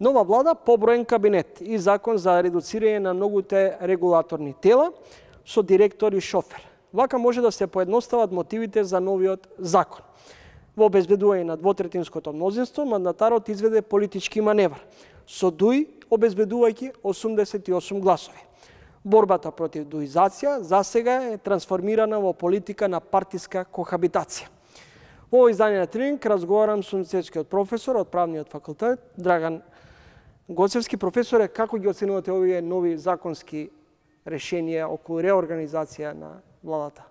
Нова влада, поброен кабинет и закон за редуцирање на многуте регулаторни тела со директор и шофер. Вака може да се поедностават мотивите за новиот закон. Во обезбедување на двотретинското мнозинство, мандатарот изведе политички маневр, со ДУИ обезбедувајќи 88 гласови. Борбата против дуизација засега е трансформирана во политика на партиска кохабитација. Во ово издание на Тренинг разговарам со универзитетскиот професор од Правниот факултет Драган Гоцевски. Професоре, како ги оценувате овие нови законски решенија околу реорганизација на владата?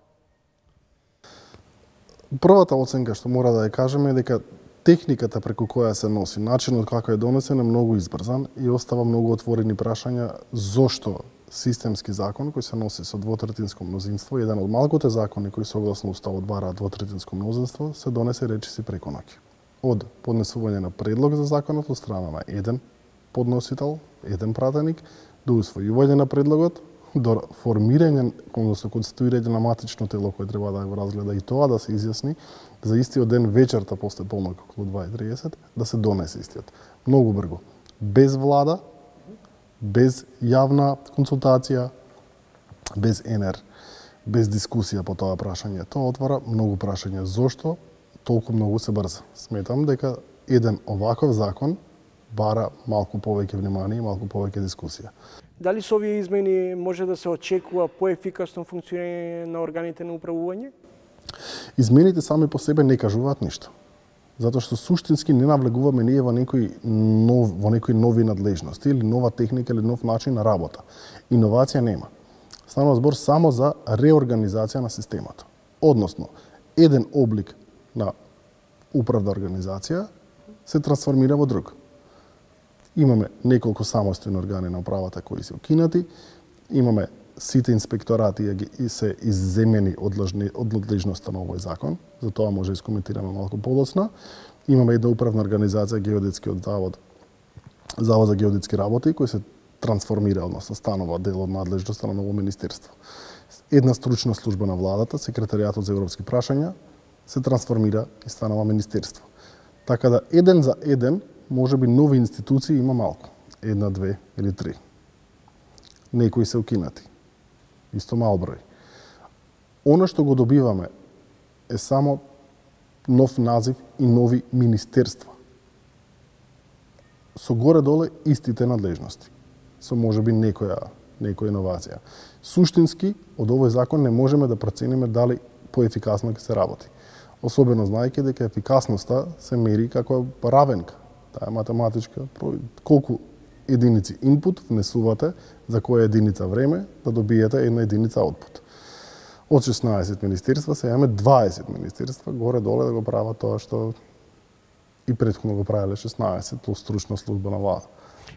Првата оценка што мора да ја кажеме е дека техниката преку која се носи, начинот како е донесен е многу избрзан и остава многу отворени прашања зошто системски закон кој се носи со двотретинско мнозинство, еден од малкуте закони кои согласно уставот бараат двотретинско мнозинство, се донесе речиси преку ноќ. Од поднесување на предлог за законот од страна на еден подносител, еден пратеник, до усвојување на предлогот, до формирање, односно конституирање на матично тело кој треба да го разгледа и тоа да се изјасни за истиот ден вечерта после полнок околу 2:30 да се донесе истиот. Многу брзо, без влада, без јавна консултација, без ЕНЕР, без дискусија по тоа прашање. Тоа отвара многу прашања. Зошто толку многу се брза? Сметам дека еден оваков закон бара малку повеќе внимание и малку повеќе дискусија. Дали со овие измени може да се очекува поефикасно функционирање на органите на управување? Измените сами по себе не кажуваат ништо. Затоа што суштински не навлегуваме ние во некои нови надлежности или нова техника или нов начин на работа. Иновација нема. Станува збор само за реорганизација на системот. Односно, еден облик на управна организација се трансформира во друг. Имаме неколку самостојни органи на управата кои се укинати, имаме сите инспекторати и се изземени од надлежноста на овој закон, за тоа може да искоментираме малку подоцна. Имаме една управна организација, Геодетскиот завод, Завод за геодетски работи, кој се трансформира, односно станува дел од надлежноста на ново министерство. Една стручна служба на владата, Секретаријатот за европски прашања, се трансформира и станува министерство. Така да еден за еден, може би нови институции има малку. Една, две или три. Некои се укинати. Исто мал број. Оно што го добиваме е само нов назив и нови министерства. Со горе-доле истите надлежности. Со можеби некоја иновација. Суштински, од овој закон не можеме да процениме дали поефикасно ќе се работи. Особено знаејќи дека ефикасноста се мери како равенка. Таа е математичка. Колку единици инпут внесувате за која единица време да добиете една единица output. Од 16 министерства се имаме 20 министерства горе-доле да го прават тоа што и претходно го правеле 16 плюс стручна служба на влада.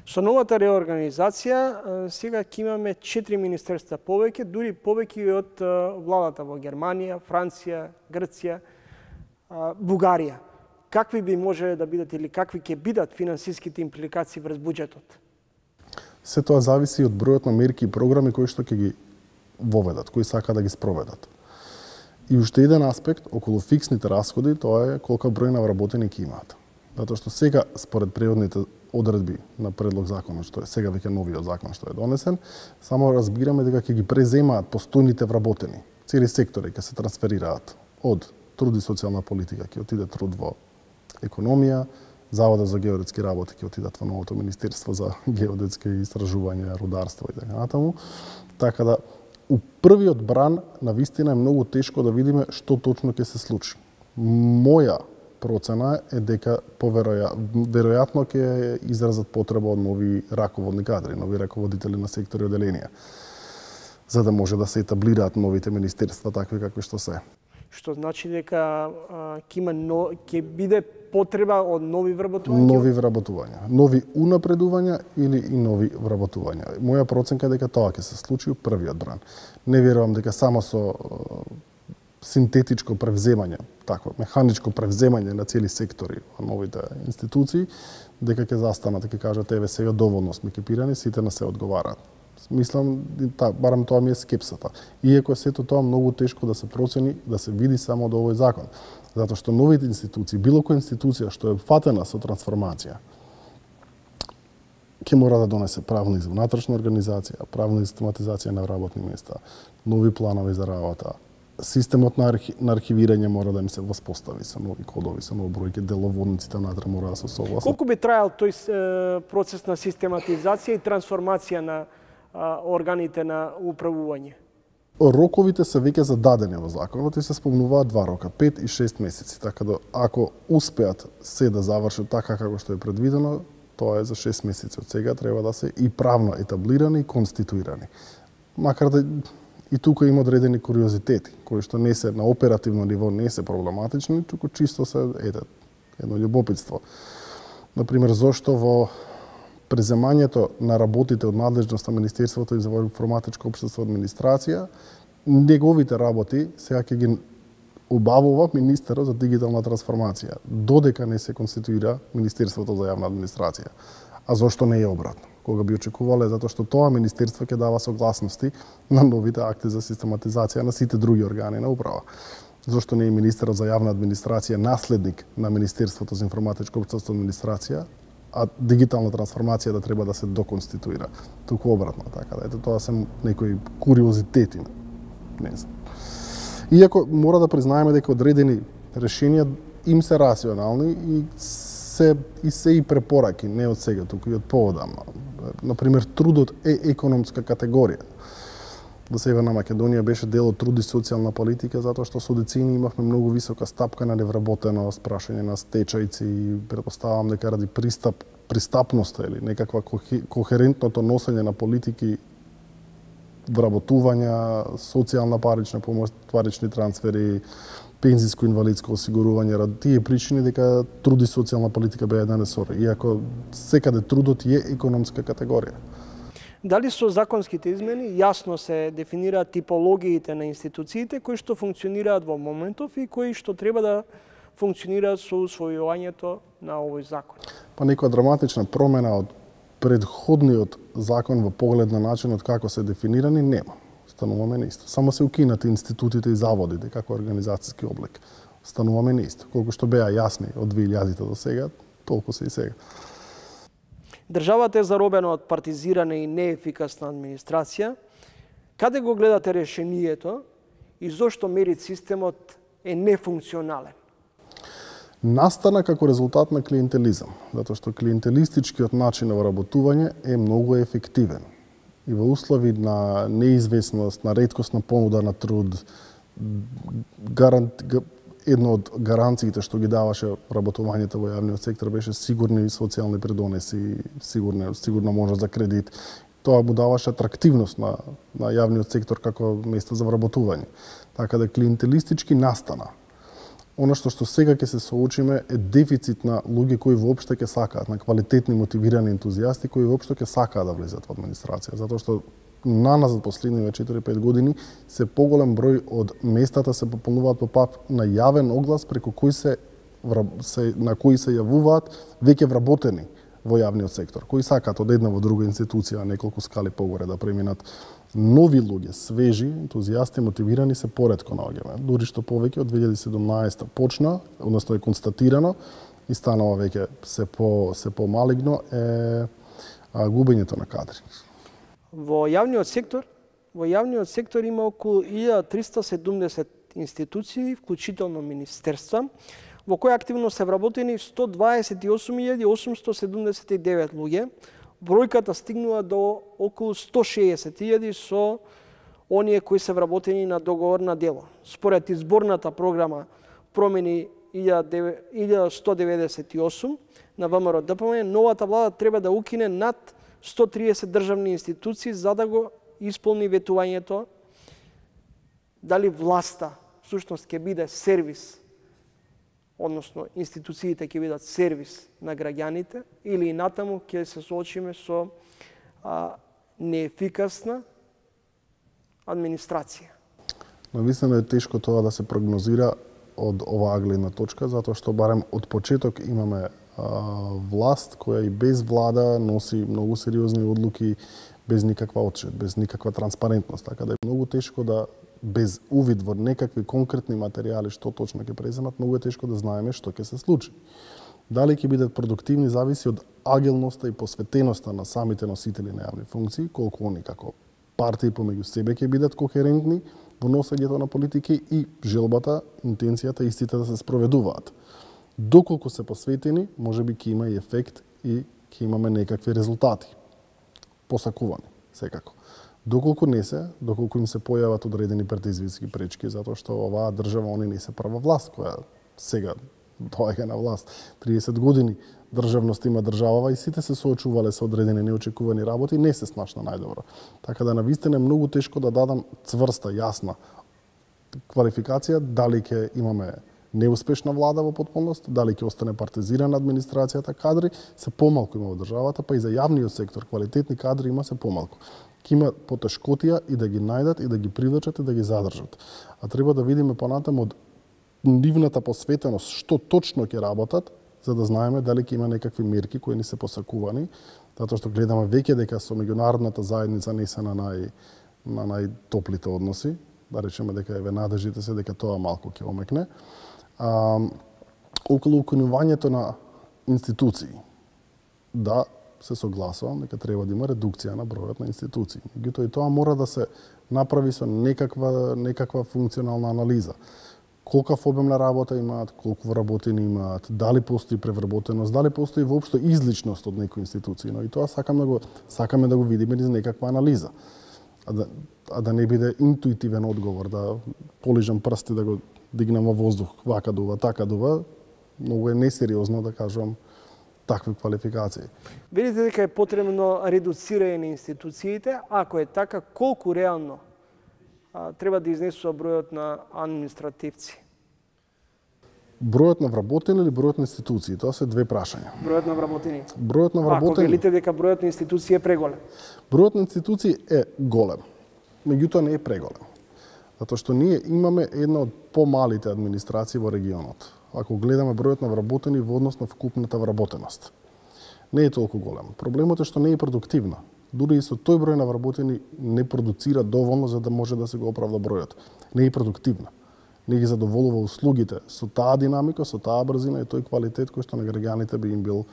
Со новата реорганизација сега ќе имаме 4 министерства повеќе, дури повеќе од владата во Германија, Франција, Грција, Бугарија. Какви би можеле да бидат или какви ќе бидат финансиските импликации врз буџетот? Се тоа зависи од бројот на мерки и програми кои што ќе ги воведат, кои сака да ги спроведат. И уште еден аспект околу фиксните расходи, тоа е колка број на вработеници имаат. Затоа што сега според преводните одредби на предлог законот, што е сега веќе новиот закон што е донесен, само разбираме дека ќе ги преземаат постојните вработени. Цели сектори ќе се трансферираат од труд и социјална политика, ќе отиде труд во економија, Заводот за геодетски работи ќе отидат во новото Министерство за геодетски истражувања, рударство и така натаму. Така да, у првиот бран, навистина е многу тешко да видиме што точно ќе се случи. Моја процена е дека веројатно ќе изразат потреба од нови раководни кадри, нови раководители на сектори и оделенија, за да може да се етаблираат новите министерства такви какви што се. Што значи дека ќе биде потреба од нови вработувања? Нови вработувања. Нови унапредувања или и нови вработувања. Моја проценка е дека тоа ќе се случи у првиот бран. Не верувам дека само со синтетичко превземање, такво механичко превземање на цели сектори во новите институции, дека ќе застанат и ќе кажат еве сега доволно сме екипирани, сите на се одговараат. Мислам, барам тоа ми е скепсата. Иако е сето тоа многу тешко да се процени, да се види само од овој закон. Затоа што новите институции, било која институција што е фатена со трансформација, ќе мора да донесе правна и внатрешна организација, правна и систематизација на работни места, нови планови за работа. Системот на архивирање мора да им се воспостави со нови кодови, со нови бројки, деловодниците внатре мора да се согласат. Колку би траел тој процес на систематизација и трансформација на органите на управување? Роковите се веќе зададени во законот и се спомнуваат 2 рока, 5 и 6 месеци, така да ако успеат се да завршат така како што е предвидено, тоа е за 6 месеци од сега, треба да се и правно етаблирани и конституирани. Макар да и тука има одредени куриозитети, кои што не се на оперативно ниво не се проблематични, туку чисто се едно љубопитство. Например, зошто во преземањето на работите од надлежност на Министерството за информатичко општество и администрација, неговите работи сега ќе ги обавува министерот за дигитална трансформација, додека не се конституира Министерството за јавна администрација. А зошто не е обратно? Кога би очекувале, затоа што тоа министерство ќе дава согласности на новите акти за систематизација на сите други органи на управа. Зошто не е министерот за јавна администрација наследник на Министерството за информатичко општество и администрација, а дигитална трансформација да треба да се доконституира. Туку обратно, така да ето тоа се некои куриозитети, не знам. Иако мора да признаеме дека одредени решенија им се рационални и се и препораки, не од сега, туку и од поодамна. Например, трудот е економска категорија. Во Северна Македонија беше дел од труд и социјална политика, затоа што со децени имавме многу висока стапка на невработеност, прашање на стечајци и предпоставам дека ради пристапноста или некаква кохерентното носење на политики вработувања, социјална парична помош, парични трансфери, пензиско-инвалидско осигурување, ради тие причини дека труд и социјална политика беа еден ресор, иако секаде трудот е економска категорија. Дали со законските измени јасно се дефинираат типологиите на институциите кои што функционираат во моментов и кои што треба да функционираат со усвојувањето на овој закон? Па некоја драматична промена од предходниот закон во поглед на начинот како се дефинирани нема. Стануваме неисто. Само се укинати институтите и заводите како организацијски облик. Стануваме неисто. Колку што беа јасни од 2000 до сега, толку се и сега. Државата е заробена од партизирана и неефикасна администрација. Каде го гледате решението и зошто мерит системот е нефункционален? Настана како резултат на клиентелизам, затоа што клиентелистичкиот начин на вработување е многу ефективен. И во услови на неизвестност, на реткост на понуда на труд, едно од гаранциите што ги даваше работувањето во јавниот сектор беше сигурни социјални придонеси, сигурна можност за кредит. Тоа му даваше атрактивност на јавниот сектор како место за вработување. Така да клиентелистички настана. Она што сега ќе се соочиме е дефицит на луѓе кои воопшто ќе сакаат, на квалитетни мотивирани ентузијасти кои воопшто ќе сакаат да влезат во администрација, затоа што наназад последниве 4-5 години се поголем број од местата се пополнуваат по пат на јавен оглас преку кој на кои се јавуваат веќе вработени во јавниот сектор, кои сакаат од една во друга институција неколку скали погоре да преминат. Нови луѓе, свежи, ентузијасти, мотивирани се поретко наоѓаме. Дури што повеќе од 2017 почна, односно е констатирано и станува веќе се помалигно е губењето на кадри. Во јавниот сектор има околу 1370 институции, вклучително министерства, во кои активно се вработени 128.879 луѓе. Бројката стигнува до околу 160.000 со оние кои се вработени на договор на дело. Според изборната програма промени 1198 на ВМРО ДПМ, новата влада треба да укине над 130 државни институции за да го исполни ветувањето дали власта всушност ќе биде сервис, односно институциите ќе бидат сервис на граѓаните или натаму ќе се соочиме со неефикасна администрација. Навистина е тешко тоа да се прогнозира од оваа гледна точка, затоа што барем од почеток имаме власт која и без влада носи многу сериозни одлуки, без никаква отчет, без никаква транспарентност, така да е многу тешко да без увид во некакви конкретни материјали што точно ќе преземат, многу е тешко да знаеме што ќе се случи. Дали ќе бидат продуктивни зависи од агилноста и посветеноста на самите носители на јавни функции, колку они како партии помеѓу себе ќе бидат кохерентни во носењето на политики и желбата, интенцијата истите да се спроведуваат. Доколку се посветени, можеби ќе има и ефект и ќе имаме некакви резултати. Посакувани, секако. Доколку не се, доколку им се појават одредени предизвицки пречки, затоа што оваа држава, они не се прва власт која сега доаѓа на власт. 30 години државност има државава и сите се соочувале со одредени неочекувани работи, не се снашна најдобро. Така да навистина е многу тешко да дадам цврста, јасна квалификација дали ќе имаме неуспешна влада во потполност, дали ќе остане партизирана администрацијата, кадри се помалку има во државата, па и за јавниот сектор квалитетни кадри има се помалку. Ќе има потешкотија и да ги најдат, и да ги привлечат, и да ги задржат. А треба да видиме понатаму од нивната посветеност што точно ќе работат, за да знаеме дали ќе има некакви мерки кои ни се посакувани, затоа што гледаме веќе дека со меѓународната заедница не се на најтоплите односи, да речеме дека еве надежите се дека тоа малку ќе омекне. Околу укинувањето на институции, да, се согласувам дека треба да има редукција на бројот на институции. Меѓутоа и тоа мора да се направи со некаква функционална анализа. Колкав обем на работа имаат, колку вработени имаат, дали постои превработеност, дали постои воопшто изличност од некои институции, но и тоа сакаме да го видиме низ некаква анализа. А да не биде интуитивен одговор, да полижам прсти да го дигнам во воздух, вака дува, така дува, многу е несериозно да кажувам такви квалификации. Видите дека е потребно редуцирање на институциите, ако е така, колку реално треба да изнесува бројот на административци? Бројот на вработени или бројот на институции? Тоа се две прашања. Бројот на вработени. Бројот на вработени. Ако велите дека бројот на институции е преголем? Бројот на институции е голем, меѓутоа не е преголем. Затоа што ние имаме една од помалите администрации во регионот. Ако гледаме бројот на вработени во однос на вкупната вработеност. Не е толку голем. Проблемот е што не е продуктивна. Дури и со тој број на вработени не продуцира доволно за да може да се го оправда бројот. Не е продуктивна. Не ги задоволува услугите со таа динамика, со таа брзина и тој квалитет кој што на граѓаните би им бил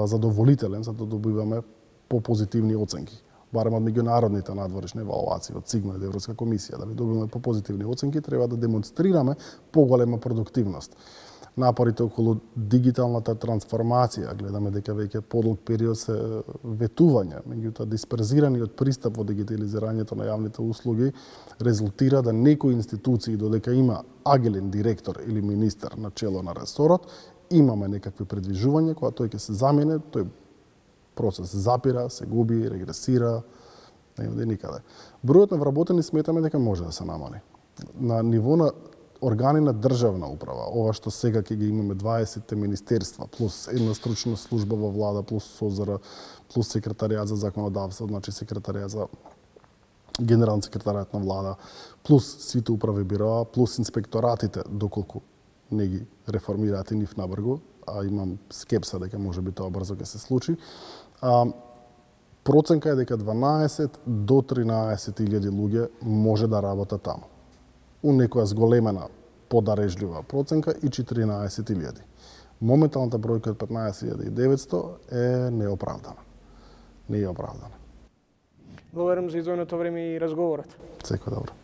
задоволителен за да добиваме попозитивни оценки. Барем од меѓународните надворешни евалуации, од СИГМА и Европска комисија, да би добиваме попозитивни оценки, треба да демонстрираме поголема продуктивност. Напорите околу дигиталната трансформација, гледаме дека веќе подолг период се ветување, меѓутоа дисперзираниот пристап во дигитализирањето на јавните услуги резултира да некои институции, додека има агилен директор или министер на чело на ресорот, имаме некакви предвижувања, кога тој ќе се замине, тој процес запира, се губи, регресира, не оди никаде. Бројот на вработени сметаме дека може да се намали. На ниво на органи на државна управа, ова што сега ќе ги имаме 20 министерства, плюс една стручна служба во влада, плюс СОЗР, плюс секретаријат за законодавство, значи секретаријат за генерален секретаријат на влада, плюс сите управи бироа, плюс инспекторатите, доколку не ги реформираат и нив набрзо, а имам скепса дека може би тоа брзо ќе се случи. Проценка е дека 12 до 13.000 луѓе може да работат таму. У некоја зголемена, подарежлива проценка и 14.000. Моменталната бројка од 15.900 е неоправдана. Не е оправдана. Благодарам за издвоеното време и разговорот. Секој добро.